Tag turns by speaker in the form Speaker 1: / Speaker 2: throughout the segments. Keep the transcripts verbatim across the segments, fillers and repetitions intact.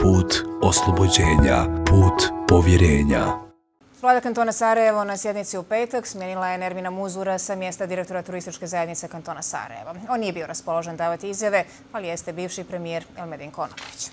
Speaker 1: put oslobođenja, put povjerenja.
Speaker 2: Vlada kantona Sarajevo na sjednici u petak smijenila je Nermina Muzura sa mjesta direktora turističke zajednice kantona Sarajevo. On nije bio raspoložen davati izjave, ali jeste bivši premijer Elmedin Konaković.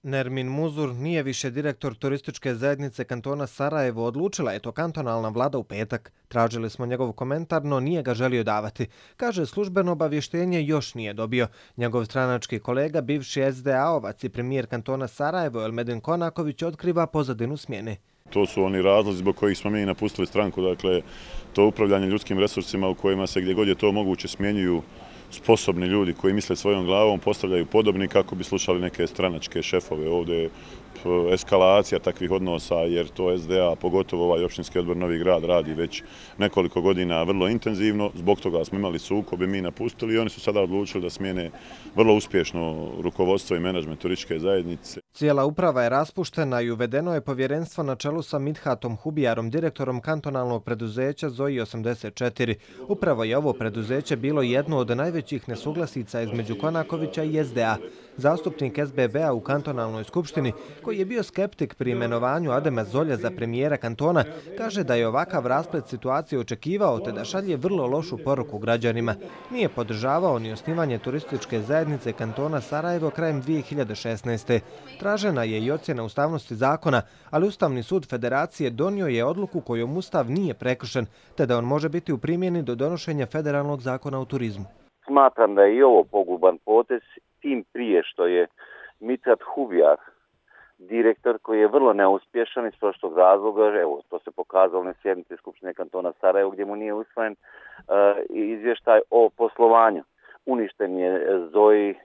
Speaker 3: Nermin Muzur nije više direktor turističke zajednice kantona Sarajevo, odlučila je to kantonalna vlada u petak. Tražili smo njegov komentar, no nije ga želio davati. Kaže, službeno obavještenje još nije dobio. Njegov stranački kolega, bivši es de a-ovac i premijer kantona Sarajevo Elmedin Konaković, otkriva pozadinu smjene.
Speaker 4: To su oni razlozi zbog kojih smo mi napustili stranku, dakle to upravljanje ljudskim resursima u kojima se gdje god je to moguće smjenjuju sposobni ljudi koji misle svojom glavom, postavljaju podobni kako bi slušali neke stranačke šefove. Ovdje je eskalacija takvih odnosa jer to es de a, pogotovo ovaj općinski odbor Novi Grad, radi već nekoliko godina vrlo intenzivno. Zbog toga smo imali sukobe, mi napustili i oni su sada odlučili da smijene vrlo uspješno rukovodstvo i menadžment turističke zajednice.
Speaker 3: Cijela uprava je raspuštena i uvedeno je povjerenstvo na čelu sa Midhatom Hubijarom, direktorom kantonalnog preduzeća Zoji osamdeset četiri. Upravo je ovo preduzeće bilo jedno od najvećih nesuglasica između Konakovića i es de a. Zastupnik es be be-a u kantonalnoj skupštini, koji je bio skeptik pri imenovanju Adema Zolja za premijera kantona, kaže da je ovakav rasplet situacije očekivao te da šalje vrlo lošu poruku građanima. Nije podržavao ni osnivanje turističke zajednice kantona Sarajevo krajem dvije hiljade šesnaeste. Tražena je i ocjena ustavnosti zakona, ali Ustavni sud Federacije donio je odluku kojom Ustav nije prekršen, te da on može biti u primjeni do donošenja federalnog zakona o turizmu.
Speaker 5: Smatram da je i ovo poguban potez, tim prije što je Midhat Hubijar direktor koji je vrlo neuspješan iz prošlog razloga, evo to se pokazalo na sjednici Skupštine kantona Sarajevo gdje mu nije usvojen uh, izvještaj o poslovanju. Uništen je Zoji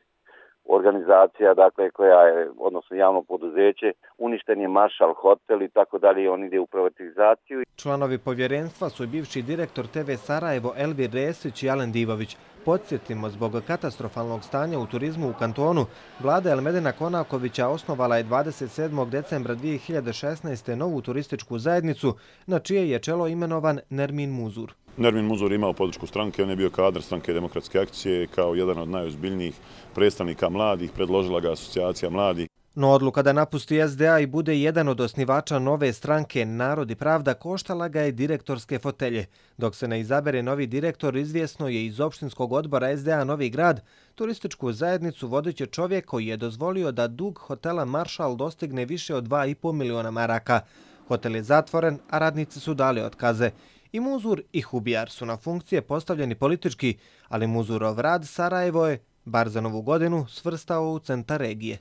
Speaker 5: organizacija, dakle koja je, odnosno javno poduzeće, uništen je Maršal hotel i tako dalje, on ide u privatizaciju.
Speaker 3: Članovi povjerenstva su bivši direktor te ve Sarajevo Elvir Resić i Alen Divović. Podsjetimo, zbog katastrofalnog stanja u turizmu u kantonu, vlada Elmedina Konakovića osnovala je dvadeset sedmog decembra dvije hiljade šesnaeste. novu turističku zajednicu, na čije je čelo imenovan Nermin Muzur.
Speaker 4: Nermin Muzur imao podršku stranke, on je bio kadar stranke Demokratske akcije, kao jedan od najozbiljnijih predstavnika mladih, predložila ga asocijacija mladih.
Speaker 3: No odluka da napusti es de a i bude jedan od osnivača nove stranke Narod i pravda koštala ga je direktorske fotelje. Dok se ne izabere novi direktor, izvjesno je iz opštinskog odbora es de a Novi Grad, turističku zajednicu vodit će čovjek koji je dozvolio da dug hotela Maršal dostigne više od dva i pol miliona maraka. Hotel je zatvoren, a radnici su dali otkaze. I Muzur i Hubijar su na funkcije postavljeni politički, ali Muzurov rad Sarajevo je, bar za novu godinu, svrstao u centar regije.